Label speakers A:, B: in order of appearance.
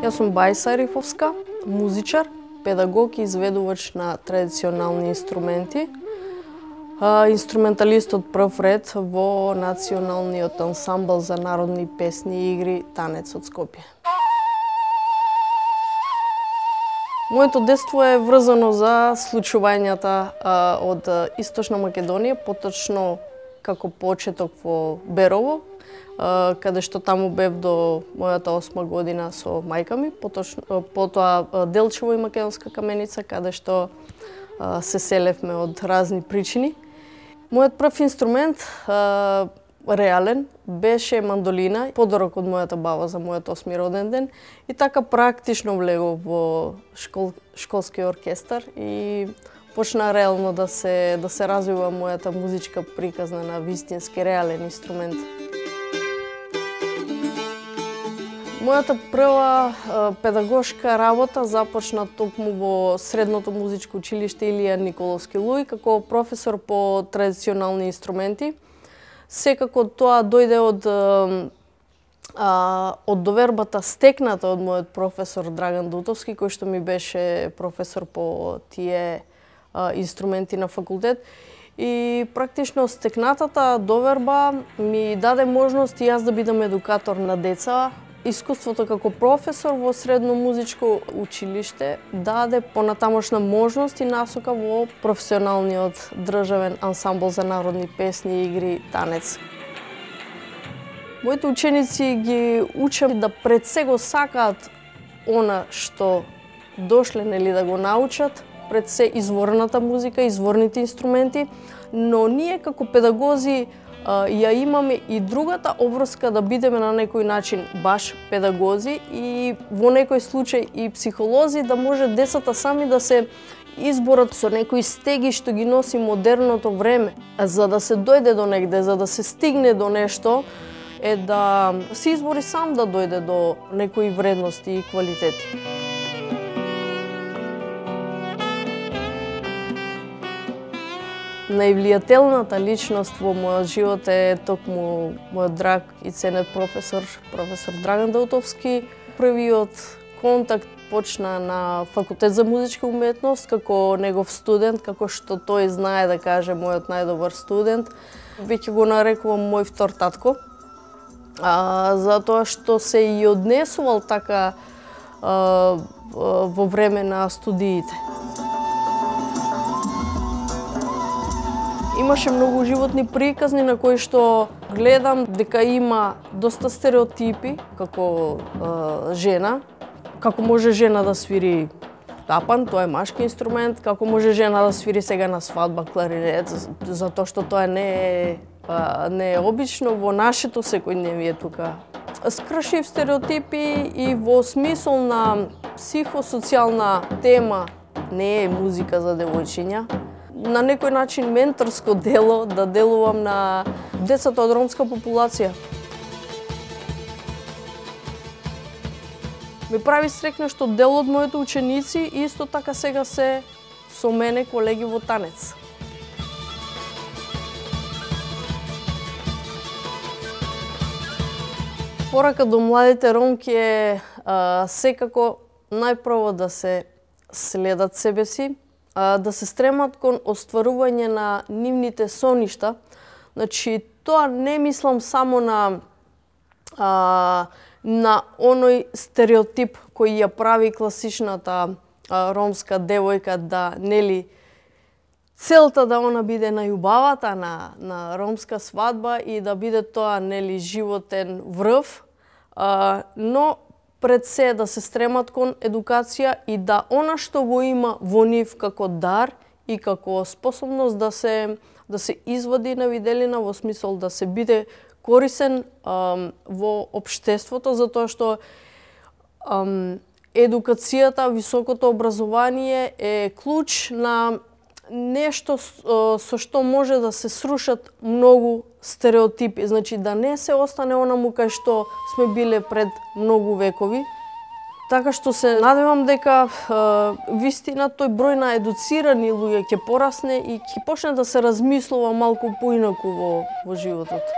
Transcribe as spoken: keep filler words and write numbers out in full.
A: Јас сум Бајса Арифовска, музичар, педагог и изведувач на традиционални инструменти, инструменталист од прв ред во Националниот ансамбл за народни песни и игри Танец од Скопје. Моето детство е врзано за случувањата од Источна Македонија, поточно како почеток во Берово, каде што таму бев до мојата осма година со мајка ми, поточно, потоа Делчево и Македонска Каменица, каде што се селевме од разни причини. Мојот прв инструмент, реален, беше мандолина, подарок од мојата баба за мојот осми роден ден, и така практично влегов во школ, школски оркестар и почна реално да се да се развива мојата музичка приказна на вистински реален инструмент. Мојата прва педагошка работа започна токму во Средното музичко училиште Илија Николовски Луј како професор по традиционални инструменти. Секако тоа дојде од а, од довербата стекната од мојот професор Драган Дутовски, кој што ми беше професор по тие а, инструменти на факултет. И практично стекнатата доверба ми даде можност и јас да бидам едукатор на деца. Искуството како професор во Средно музичко училиште даде понатамошна можност и насока во професионалниот државен ансамбл за народни песни и игри Танец. Моите ученици ги учам да пред се го сакаат она што дошле нели да го научат, пред се изворната музика, изворните инструменти, но ние како педагози ја имаме и другата обврска да бидеме на некој начин баш педагози и во некој случај и психолози, да може децата сами да се изборат со некои стеги што ги носи модерното време. За да се дојде до негде, за да се стигне до нешто, е да се избори сам да дојде до некои вредности и квалитети. Највлијателната личност во мојот живот е токму мојот драг и ценет професор, професор Драган Дутовски. Првиот контакт почна на факултет за музичка уметност како негов студент, како што тој знае да каже мојот најдобар студент. Веќе го нарекувам мој втор татко, а, затоа што се и однесувал така а, во време на студиите. Имаше многу животни приказни на кои што гледам дека има доста стереотипи како е, жена. Како може жена да свири тапан, тоа е машки инструмент, како може жена да свири сега на свадба кларинет, затоа што тоа не е, не е обично во нашето секојдневие тука. Скршив стереотипи и во смисол на психосоцијална тема не е музика за девојчиња. На некој начин менторско дело да делувам на децата од ромска популација. Ме прави срекна што дел од моите ученици исто така сега се со мене колеги во танец. Порака до младите ромки е а, секако најпрво да се следат себе си, да се стремат кон остварување на нивните соништа. Значи, тоа не мислам само на а, на оној стереотип кој ја прави класичната а, ромска девојка да нели целта да она биде најубавата на на ромска свадба и да биде тоа нели животен врв, а, но пред се да се стремат кон едукација и да она што го има во нив како дар и како способност да се да се извади на виделина во смисол да се биде корисен ам, во општеството, затоа што ам, едукацијата, високото образование е клуч на нешто со што може да се срушат многу стереотипи, значи да не се остане онаму кај што сме биле пред многу векови. Така што се надевам дека е, вистина тој број на едуцирани луѓе ќе порасне и ќе почне да се размислува малку поинаку во, во животот.